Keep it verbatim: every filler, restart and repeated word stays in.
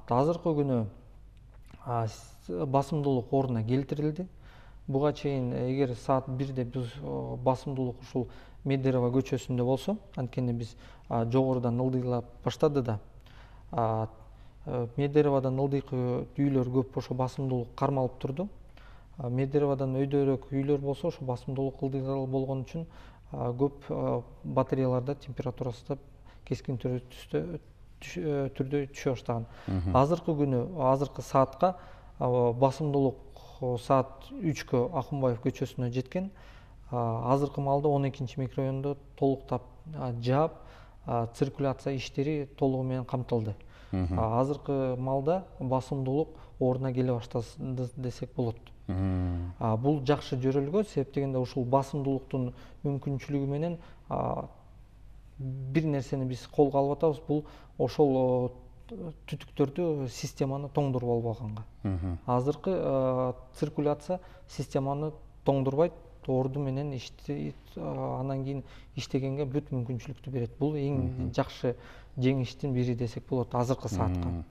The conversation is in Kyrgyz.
азыркы күнү басымдуулук ордуна келтирилди. Буга чейин эгер саат бирде биз басымдуулук ушул Медерево көчөсүндө болсо, анткени биз жогорудан ылдыйлап баштады да, Медереводон ылдыйкы үйлөр көп ошо басымдуулук кармалып турду. Медереводон өйдөрөөк үйлөр болсо ошо басымдуулук ылдыйраак болгон үчүн көп батареяларда температурасы да кескин түрдө түшө баштаган. Азыркы күнү, азыркы саатка басымдуулук саат үчкө Акунбаев көчөсүнө жеткен. Азыркы маалда он экинчи микрорайондо толуктап жаап, циркуляция иштери толугу менен камтылды. Азыркы маалда басымдуулук ордуна келе баштады десек болот. Бул жакшы жөрөлгө, себеп дегенде ушул басымдуулуктун мүмкүнчүлүгү менен бир нерсени биз колго алып атабыз, бул ошол түтүктөрдү, системаны тоңдуруп албаганга. Азыркы циркуляция системаны тоңдурбайт, орду менен анан кийин иштегенге бүт мүмкүнчүлүктү берет. Бул эң жакшы жеңиштин бири десек болот азыркы саатка.